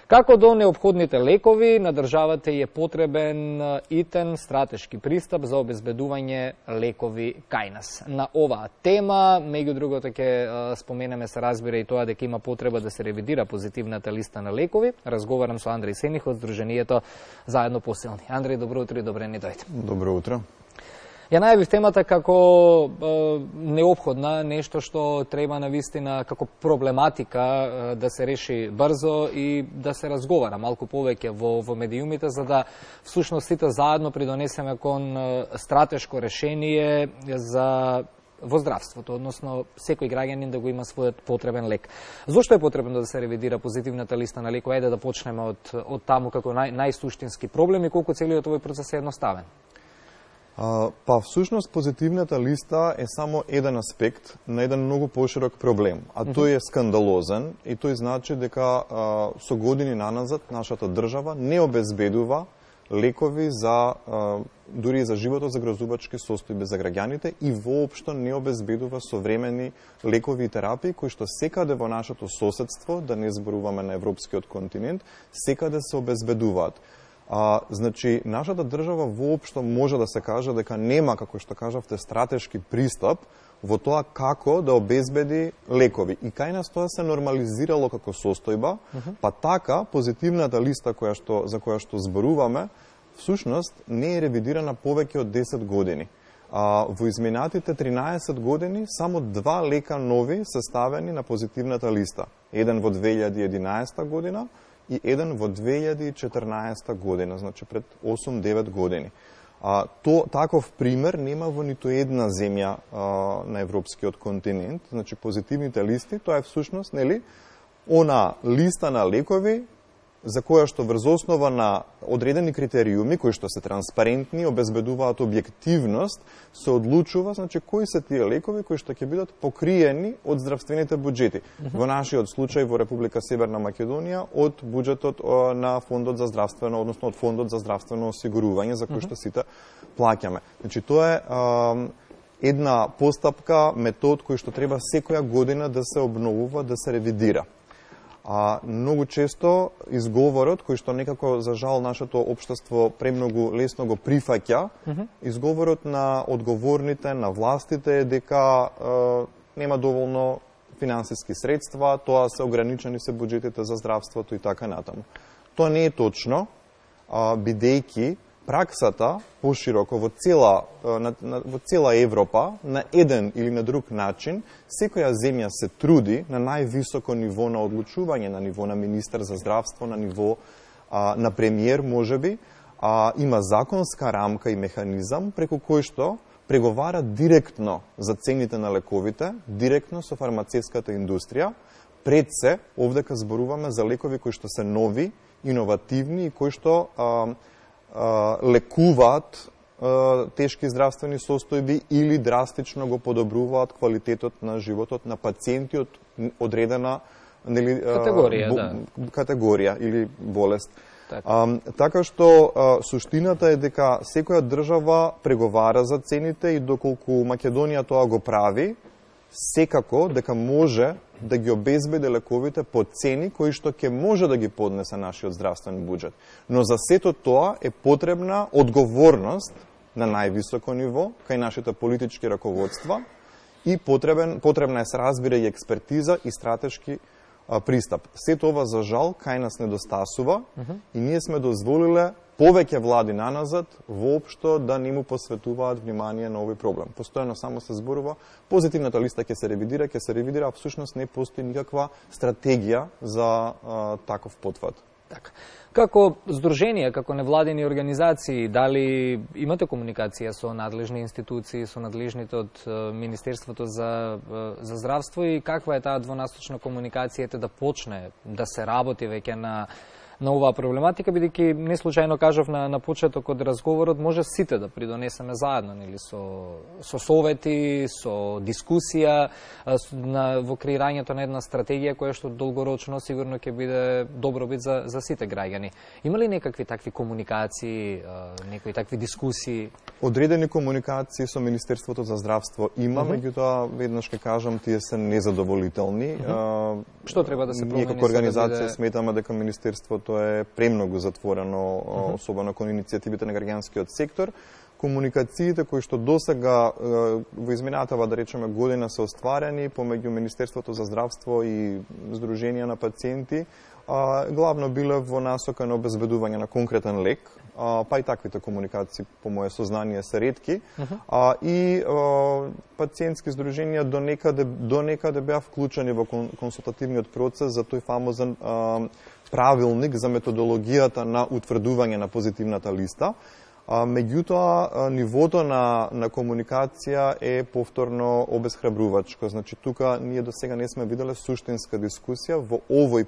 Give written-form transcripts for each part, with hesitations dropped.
Како до неопходните лекови, на државата е потребен итен стратешки пристап за обезбедување лекови кај нас. На оваа тема, меѓу другото ќе споменеме, се разбира и тоа дека има потреба да се ревидира позитивната листа на лекови. Разговарам со Андреј Сених од Сдруженијето Заедно посилни. Андреј, добро утро и добре ни дојде. Добро утро. Ја најавив темата како неопходна, нешто што треба навистина како проблематика да се реши брзо и да се разговара малку повеќе во медиумите, за да всушност сите заедно придонесеме кон стратешко решение во здравството, односно секој граѓанин да го има својот потребен лек. Зошто е потребно да се ревидира позитивната листа на лекови? Ајде да почнеме од таму како најсуштински проблем и колку целиот овој процес е едноставен. Па всушност позитивната листа е само еден аспект на еден многу поширок проблем, а тој е скандалозен и тој значи дека со години наназад нашата држава не обезбедува лекови за дури и за животот загрозувачки состојби за граѓаните и воопшто не обезбедува современи лекови и терапии кои што секаде во нашето соседство, да не зборуваме на европскиот континент, секаде се обезбедуваат. Значи, нашата држава воопшто може да се каже дека нема, како што кажавте, стратешки пристап во тоа како да обезбеди лекови. И кај нас тоа се нормализирало како состојба, па така позитивната листа за која што зборуваме, всушност не е ревидирана повеќе од 10 години. Во изминатите 13 години само 2 лека нови се ставени на позитивната листа. Еден во 2011 година и еден во 2014 година, значи пред 8-9 години. Таков пример нема во ниту една земја на европскиот континент. Значи позитивните листи, тоа е всушност, нели, она листа на лекови за која што врз основа на одредени критериуми кои што се транспарентни, обезбедуваат објективност, се одлучува, значи кои се тие лекови кои што ќе бидат покриени од здравствените буџети. Во нашиот случај во Република Северна Македонија од буџетот на фондот за здравствено, односно од фондот за здравствено осигурување за кој што сите плаќаме. Значи тоа е една постапка, метод кој што треба секоја година да се обновува, да се ревидира. Многу често изговорот, кој што некако, за жал, нашето општество премногу лесно го прифаќа, изговорот на одговорните, на властите е дека нема доволно финансиски средства, тоа се ограничени се буџетите за здравството и така натаму. Тоа не е точно, бидејќи праксата пошироко во цела Европа на еден или на друг начин, секоја земја се труди на највисоко ниво на одлучување, на ниво на министер за здравство, на ниво на премиер, можеби, има законска рамка и механизам преку кој што преговара директно за цените на лековите, директно со фармацевската индустрија. Пред се, овдека зборуваме за лекови кои што се нови, иновативни и кои што лекуваат тешки здравствени состојби или драстично го подобруваат квалитетот на животот на пациенти од одредена категорија или болест. Така што суштината е дека секоја држава преговара за цените и доколку Македонија тоа го прави, секако дека може да ги обезбеди лековите по цени кои што ќе може да ги поднесе нашиот здравствен буџет. Но за сето тоа е потребна одговорност на највисоко ниво кај нашите политички раководства и потребна е, се разбира, и експертиза и стратешки пристап. Сето ова, за жал, кај нас недостасува и ние сме дозволиле повеќе влади наназад воопшто да не му посветуваат внимание на овој проблем. Постојано само се зборува, позитивната листа ќе се ревидира, а всушност не постои никаква стратегија за таков потфат. Така. Како здруженија, како невладени организации, дали имате комуникација со надлежни институции, со надлежните од Министерството за здравство и каква е таа двонасочна комуникација да почне да се работи веќе на на оваа проблематика, бидејќи не случајно кажав на почеток од разговорот, може сите да придонесеме заедно, нели, со совети, со дискусија во креирањето на една стратегија која што долгорочно сигурно ќе биде добробит за сите граѓани. Има ли некакви такви комуникации, некои такви дискусии? Одредени комуникации со Министерството за здравство има, меѓутоа веднаш ќе кажам, тие се незадоволителни. Што треба да се промени? Ние како организација сметаме дека Министерството е премногу затворено, особено кон иницијативите на граѓанскиот сектор. Комуникациите кои што досега во изминатава, да речеме, година се остварени помеѓу Министерството за здравство и Сдруженија на пациенти, главно биле во насока на обезбедување на конкретен лек, па и таквите комуникации, по моје сознание, се ретки. И пациентски сдруженија до некаде беа вклучени во консултативниот процес за тој фамозен правилник за методологијата на утврдување на позитивната листа. Меѓутоа, нивото на комуникација е повторно обезхрабрувачко. Значи, тука ние до сега не сме виделе суштинска дискусија во овој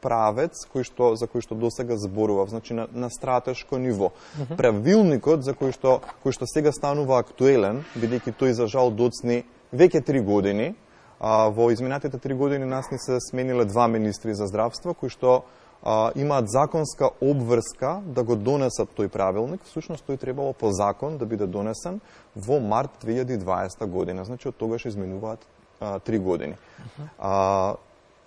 правец за кој што досега зборував, значи на стратешко ниво. Правилникот за кој што сега станува актуелен, бидејќи тој за жал доцни веќе 3 години, во изминатите 3 години нас ни се смениле 2 министри за здравство кои што имаат законска обврска да го донесат тој правилник. Всушност тој требало по закон да биде донесен во март 2020 година. Значи од тогаш изминуваат 3 години.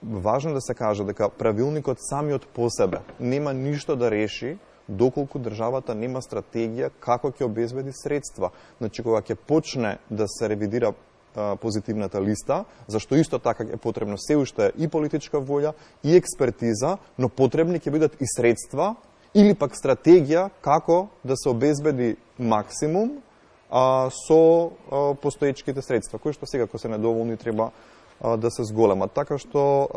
Важно да се каже дека правилникот самиот по себе нема ништо да реши доколку државата нема стратегија како ќе обезбеди средства. Значи кога ќе почне да се ревидира позитивната листа, зашто исто така е потребно се уште и политичка волја и експертиза, но потребни ќе бидат и средства или пак стратегија како да се обезбеди максимум со постоечките средства, кои што сега, ако се недоволни, треба да се зголемат. Така што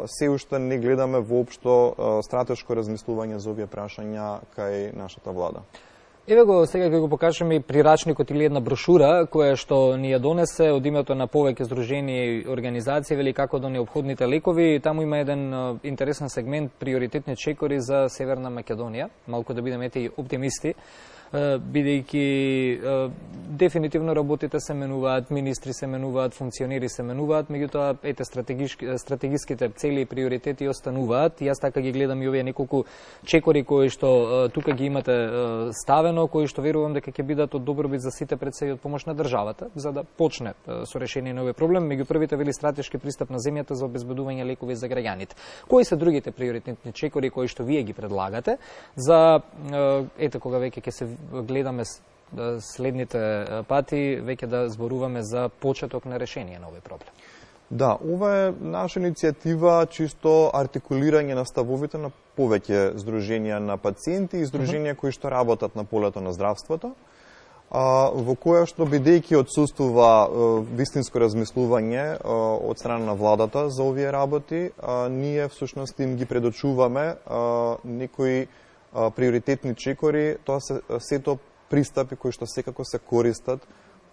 се уште не гледаме воопшто стратешко размислување за овие прашања кај нашата влада. Еве го, сега ќе го покажеме и прирачникот или една брошура која што ни ја донесе од името на повеќе здруженија и организации, вели како до неопходните лекови. Таму има еден интересен сегмент приоритетни чекори за Северна Македонија. Малку да бидеме и оптимисти, бидејќи дефинитивно работите се менуваат, министри се менуваат, функционери се менуваат, меѓутоа ете стратегиските цели и приоритети остануваат. Јас така ги гледам и овие неколку чекори кои што тука ги имате ставено, кои што верувам дека ќе бидат од добробит за сите, пред се и од помош на државата, за да почне со решение на овој проблем. Меѓу првите вели стратешки пристап на земјата за обезбедување лекови за граѓаните. Кои се другите приоритетни чекори кои што вие ги предлагате за ете кога веќе ќе се гледаме следните пати, веќе да зборуваме за почеток на решение на овој проблем? Да, ова е наша иницијатива, чисто артикулирање на ставовите на повеќе здруженија на пациенти и здруженија кои што работат на полето на здравството, во која што, бидејќи отсуствува вистинско размислување од страна на владата за овие работи, ние всушност им ги предочуваме некои приоритетни чекори, тоа се сето пристапи кои што секако се користат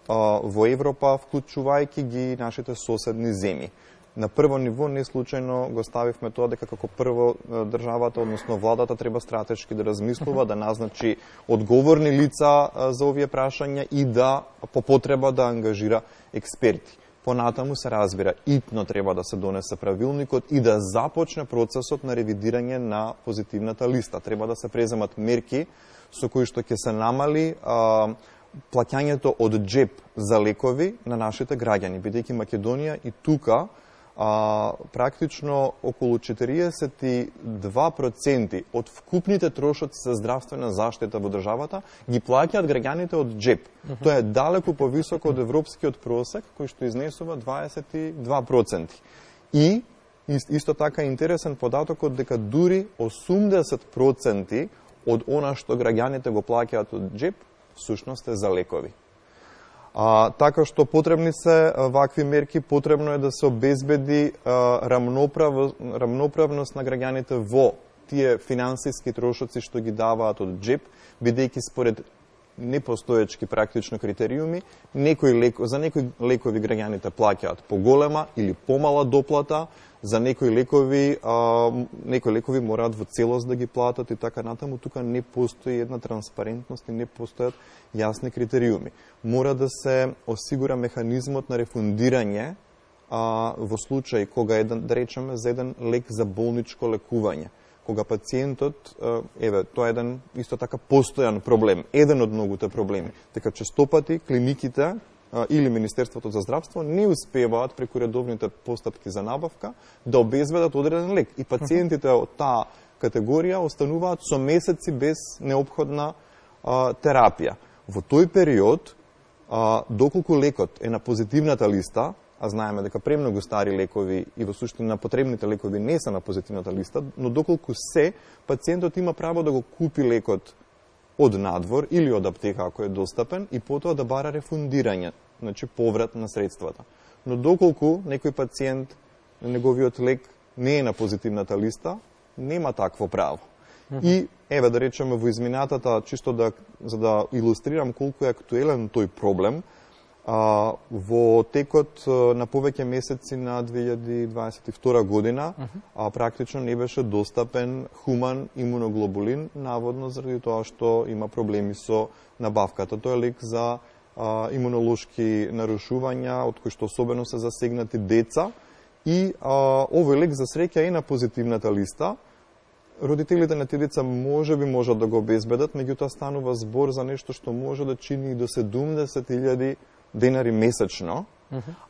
во Европа, вклучувајќи ги нашите соседни земји. На прво ниво не случајно го ставивме тоа дека како прво државата, односно владата, треба стратешки да размислува, да назначи одговорни лица за овие прашања и да по потреба да ангажира експерти. Понатаму се разбира, итно треба да се донесе правилникот и да започне процесот на ревидирање на позитивната листа. Треба да се преземат мерки со кои што ќе се намали плаќањето од джеб за лекови на нашите граѓани, бидејќи Македонија и тука практично околу 42% од вкупните трошоци за здравствена заштита во државата ги плаќаат граѓаните од джеб. Тоа е далеку повисоко од европскиот просек, кој што изнесува 22%. И исто така интересен податокот дека дури 80% од она што граѓаните го плаќаат од джеб, всушност е за лекови. Така што потребни се вакви мерки, потребно е да се обезбеди рамноправност на граѓаните во тие финансиски трошоци што ги даваат од джеб, бидејќи според непостоечки практично критериуми, за некои лекови граѓаните плаќаат поголема или помала доплата, За некои лекови мораат во целост да ги платат и така натаму, тука не постои една транспарентност и не постојат јасни критериуми. Мора да се осигура механизмот на рефундирање во случај кога да речеме за еден лек за болничко лекување. Кога пациентот, тоа е еден исто така постојан проблем, еден од многуте проблеми, дека честопати клиниките или Министерството за здравство не успеваат преку редовните постапки за набавка да обезбедат одреден лек и пациентите од таа категорија остануваат со месеци без неопходна терапија. Во тој период, доколку лекот е на позитивната листа, а знаеме дека премногу стари лекови и во суштина потребните лекови не се на позитивната листа, но доколку пациентот има право да го купи лекот од надвор или од аптека ако е достапен и потоа да бара рефундирање, значи поврат на средствата. Но доколку некој пациент, неговиот лек не е на позитивната листа, нема такво право. И да речеме во изминатата, чисто за да илустрирам колку е актуелен тој проблем, во текот на повеќе месеци на 2022 година практично не беше достапен хуман имуноглобулин, наводно заради тоа што има проблеми со набавката. Тој е лек за имунолошки нарушувања, од кои што особено се засегнати деца, и овој лек за среќа е на позитивната листа. Родителите на тие деца можат да го обезбедат, меѓутоа станува збор за нешто што може да чини и до 70.000 денари месечно,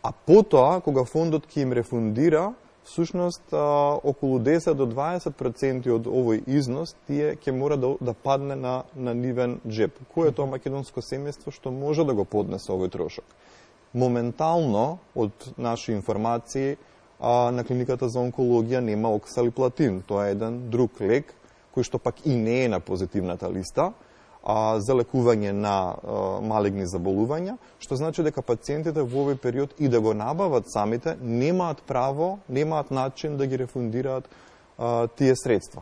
а потоа, кога фондот ќе им рефундира, всушност околу 10 до 20% од овој износ тие ќе мора да падне на нивен джеб. Кој е тоа македонско семејство што може да го поднесе овој трошок? Моментално, од наши информации, на клиниката за онкологија нема оксалиплатин. Тоа е еден друг лек, кој што пак и не е на позитивната листа, за лекување на малигни заболувања, што значи дека пациентите во овој период и да го набават самите, немаат право, немаат начин да ги рефундираат тие средства.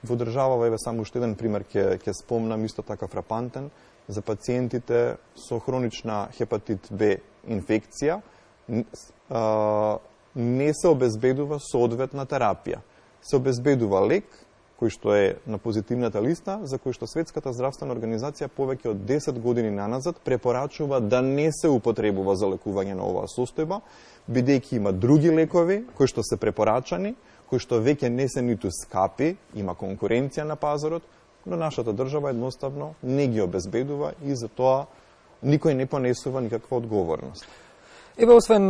Во држава, само уште еден пример ќе спомнам, исто така фрапантен, за пациентите со хронична хепатит Б инфекција, не се обезбедува соодветна терапија. Се обезбедува лек, кој што е на позитивната листа, за кој што Светската здравствена организација повеќе од 10 години наназад препорачува да не се употребува за лекување на оваа состојба, бидејќи има други лекови кои што се препорачани, кои што веќе не се ниту скапи, има конкуренција на пазарот, но нашата држава едноставно не ги обезбедува и за тоа никој не понесува никаква одговорност. Освен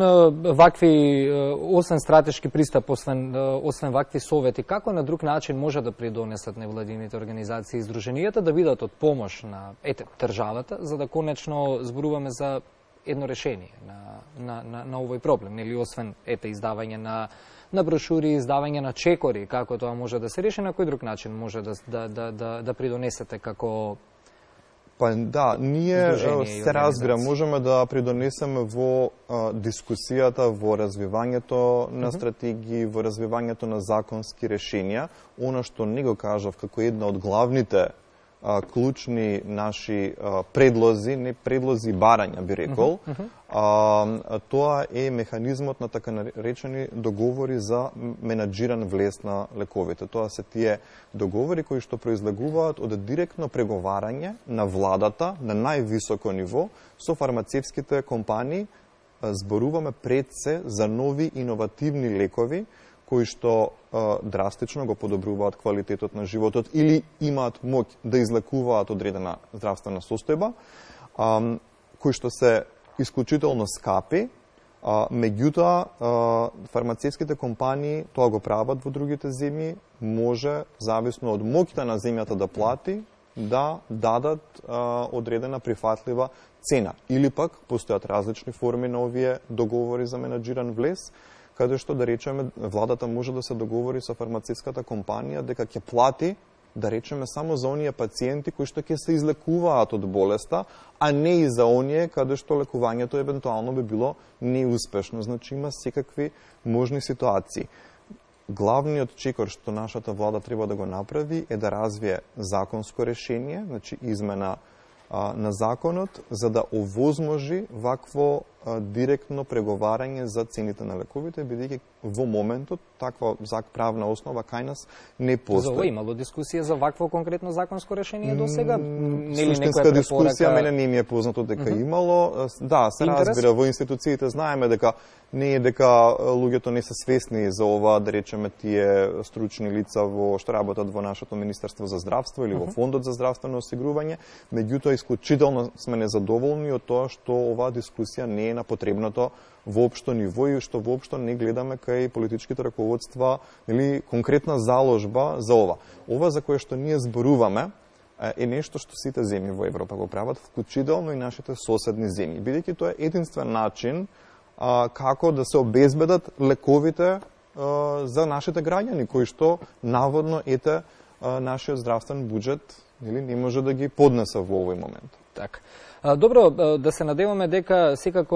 стратешки пристап, освен вакви совети, како на друг начин може да придонесат невладините организации и издруженијата да бидат од помош на државата, за да конечно зборуваме за едно решение на овој проблем, или освен издавање на брошури, издавање на чекори, како тоа може да се реши, на кој друг начин може да придонесете како ние се разбира, можеме да придонесеме во дискусијата, во развивањето на стратегии, во развивањето на законски решенија. Она што не го кажав како една од главните клучни наши предлози, не предлози, барања би рекол, тоа е механизмот на така наречени договори за менаџиран влез на лековите. Тоа се тие договори кои што произлегуваат од директно преговарање на владата на највисоко ниво со фармацевските компании. Зборуваме пред се за нови иновативни лекови кои што драстично го подобруваат квалитетот на животот или имаат моќ да излекуваат одредена здравствена состојба, кои што се исклучително скапи, меѓутоа фармацевските компании тоа го прават во другите земји, може, зависно од моќта на земјата да плати, да дадат одредена прифатлива цена. Или пак постојат различни форми на овие договори за менаџиран влез, каде што, да речеме, владата може да се договори со фармацевската компанија дека ќе плати, да речеме, само за оние пациенти кои што ќе се излекуваат од болеста, а не и за оние каде што лекувањето евентуално би било неуспешно. Значи има секакви можни ситуации. Главниот чекор што нашата влада треба да го направи е да развие законско решение, значи измена на законот, за да овозможи вакво директно преговарање за цените на лековите, бидејќи во моментот таква правна основа кај нас не постои. За ова имало дискусија за вакво конкретно законско решение до сега? Суштинска дискусија мене не ми е познато дека имало. Да, се разбира, во институциите знаеме дека не е дека луѓето не се свесни за ова, да речеме, тие стручни лица што работат во нашето Министерство за здравство или во Фондот за здравствено осигурување, меѓутоа исклучително сме незадоволни од тоа што оваа дискусија не е на потребното воопшто ниво и што воопшто не гледаме кај политичките раководства или конкретна заложба за ова. Ова за кое што ние зборуваме е нешто што сите земји во Европа го прават, вклучително и нашите соседни земји, бидејќи тоа е единствен начин како да се обезбедат лековите за нашите граѓани, кои што наводно нашиот здравствен буџет не може да ги поднесе во овој момент. Така. Добро, да се надеваме дека секако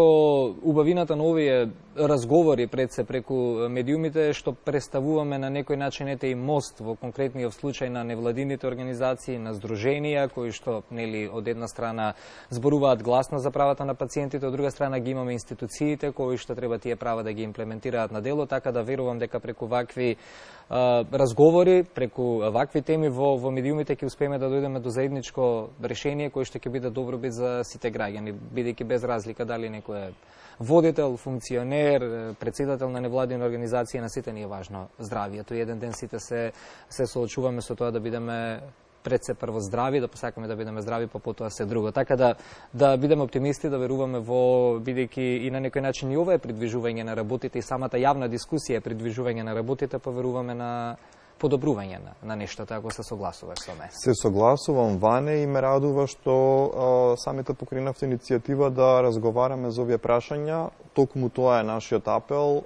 убавината на овие разговори пред се преку медиумите што представуваме на некој начин и мост во конкретниот случај на невладините организации, на здруженија кои што од една страна зборуваат гласно за правата на пациентите, од друга страна ги имаме институциите кои што треба тие права да ги имплементираат на дело, така да верувам дека преку вакви разговори, преку вакви теми во медиумите ќе успееме да дојдеме до заедничко решение кој што ќе биде добробит за сите граѓани, бидејќи без разлика дали некој е водител, функционер, председател на невладина организација, на сите ни е важно здравието. Еден ден сите се соочуваме со тоа да бидеме пред се прво здрави, да посакаме да бидеме здрави, па потоа се друго. Така да бидеме оптимисти, да веруваме во, бидејќи и на некој начин и ова е придвижување на работите и самата јавна дискусија е придвижување на работите, па веруваме на подобрување на нештото, ако се согласуваш со мене. Се согласувам, Ване, и ме радува што самите покренавте иницијатива да разговараме за овие прашања. Токму тоа е нашиот апел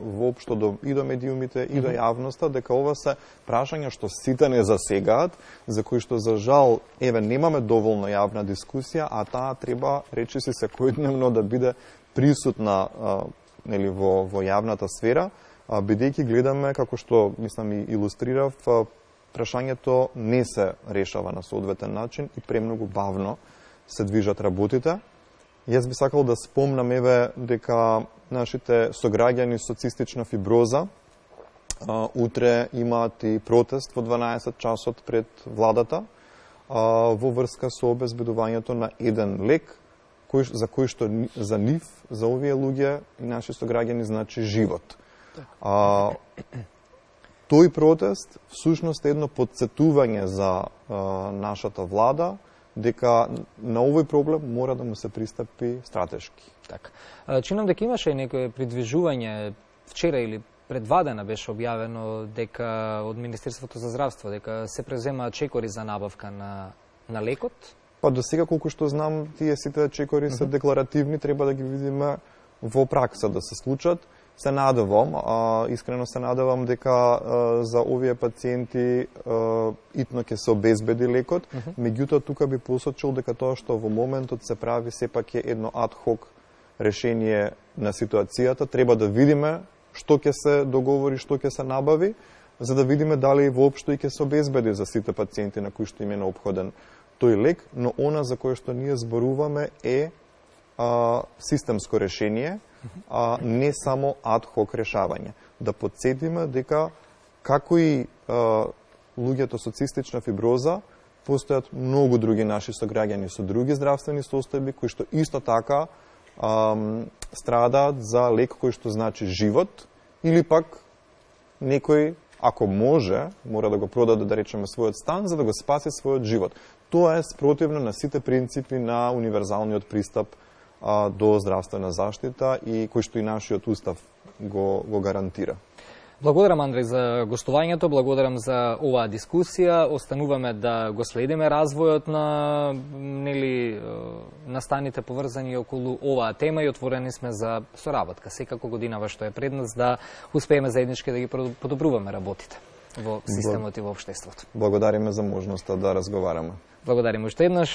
воопшто и до медиумите и до јавноста, дека ова се прашања што сите не засегаат, за кои што за жал немаме доволно јавна дискусија, а таа треба речиси секојдневно да биде присутна во јавната сфера, бидејќи гледаме, како што, мислам, и илустрирав, прашањето не се решава на соодветен начин и премногу бавно се движат работите. Јас би сакал да спомнам дека нашите сограѓани со цистична фиброза утре имаат и протест во 12 часот пред владата во врска со обезбедувањето на еден лек за кој што за нив, за овие луѓе и наши сограѓани значи живот. Тој протест всушност е едно потсетување за нашата влада дека на овој проблем мора да му се пристапи стратешки. Така. Чинам дека имаше и некое придвижување вчера или пред 2 дена беше објавено дека од Министерството за здравство дека се преземаат чекори за набавка на лекот. Па до сега колку што знам тие сите чекори се декларативни, треба да ги видиме во пракса да се случат. Се надевам, искрено се надевам дека за овие пациенти итно ќе се обезбеди лекот, меѓутоа тука би посочил дека тоа што во моментот се прави сепак е едно ад хок решение на ситуацијата. Треба да видиме што ќе се договори, што ќе се набави, за да видиме дали воопшто и ќе се обезбеди за сите пациенти на кои што им е необходен тој лек, но она за кое што ние зборуваме е системско решение, не само ад хок решавање. Да подсетиме дека како и луѓето со цистична фиброза, постојат многу други наши сограѓани со други здравствени состојби кои што исто така страдаат за лек кој што значи живот, или пак некој, ако може, мора да го продаде, да речеме, својот стан за да го спаси својот живот. Тоа е спротивно на сите принципи на универзалниот пристап до здравствена заштита и кој што и нашиот устав го гарантира. Благодарам, Андреј, за гостувањето, благодарам за оваа дискусија. Остануваме да го следиме развојот на настаните поврзани околу оваа тема и отворени сме за соработка. Секако годинава што е пред нас да успееме заеднички да ги подобруваме работите во системот и во општеството. Благодариме за можноста да разговараме. Благодариме уште еднаш.